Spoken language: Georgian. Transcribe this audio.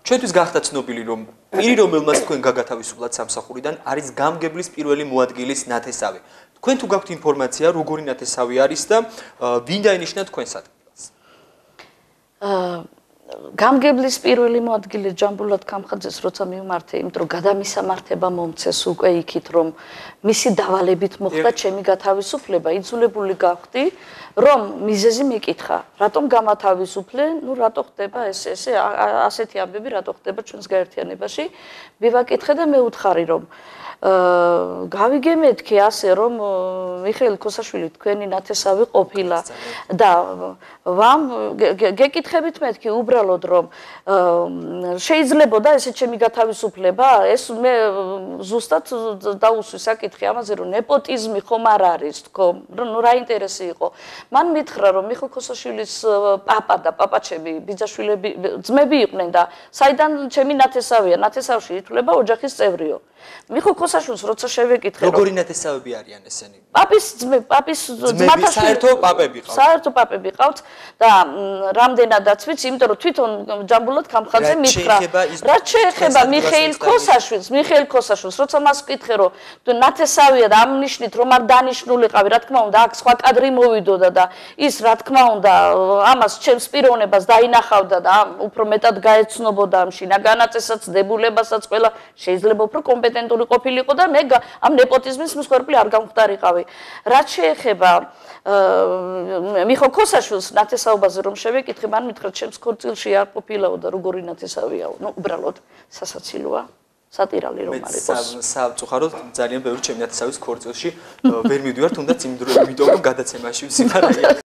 ჩვენთვის გახდა ცნობილი, რომ პირი, რომელმაც თქვენ გაგათავისუფლათ სამსახურიდან, არის გამგებლის პირველი მოადგილის ნათესავი. თქვენ თუ გაქვთ ინფორმაცია, როგორი ნათესავი არის და ვინ დაინიშნა თქვენს ადგილას? გამგებლის პირველი მოადგილე ჯამბულად კამხაძეს როცა მივმართე, იმიტომ რომ გადამისამართება მომცეს უკვე იქით, რომ მისი დავალებით მოხდა ჩემი გათავისუფლება, იძულებული გავხდი, რომ მიზეზი მეკითხა, რატომ გამათავისუფლე, ნუ რატო ხდება ასეთი ამბები, რატო ხდება ჩვენს გაერთიანებაში, მივაკითხე და მეუთხარი, რომ გავიგე მეთქი ასე, რომ მიხეილ ქოსაშვილი თქვენი ნათესავი ყოფილა და გეკითხებით მეთქი უბრალოდ, რომ შეიძლებოდა ესე ჩემი გათავისუფლება, ეს მე ზუსტად დაუსვი საკითხი ამაზე, რომ ნეპოტიზმი ხომ არ არის, თქო, ნუ რა ინტერესი იყო. მან მითხრა, რომ მიხეილ ქოსაშვილის პაპა და პაპაჩები, ბიძაშვილები, ძმები იყვნენ და საიდან ჩემი ნათესავია, ნათესავში ითვლება ოჯახის წევრიო. მიხეილ ქოსაშვილს როცა შევეკითხე, როგორი ნათესავები არიან ესენი? პაპის ძმათა საერთო პაპები ყავთ. საერთო პაპები ყავთ და რამდენადაც ვიცი, იმიტომ რომ თვითონ ჯამბულად კამხაძე მითხრა, რაც შეეხება მიხეილ ქოსაშვილს, როცა მას ვკითხე, რომ ნათესავია და ამ ნიშნით რომ არ დანიშნულიყავი, რა თქმა უნდა, აქ სხვა კადრი მოვიდოდა და ის რა თქმა უნდა, ამას ჩემს პიროვნებას დაინახავდა და უფრო მეტად გაეცნობოდა ამ შინაგანაწესაც, დებულებასაც, ყველა შეიძლება უფრო კომპეტენტური ყოფილიყო და მე ამ ნეპოტიზმის მსხვერპლი არ გამختارიყავი. რაც შეეხება მიხეილ ქოსაშვილს ნათესაობაზე რომ შევეკითხე, მან მითხრა, ჩემს ქორწილში არ ყოფილაო და როგორი ნათესავიაო. ნუ უბრალოდ სასაცილოა, სატირალი რომ არ იყოს. სამწუხაროდ ძალიან ბევრი ჩემი ნათესავის ქორწილში ვერ მივდივარ, თუნდაც იმიტომ რომ გადაცემაში ვსიფარია.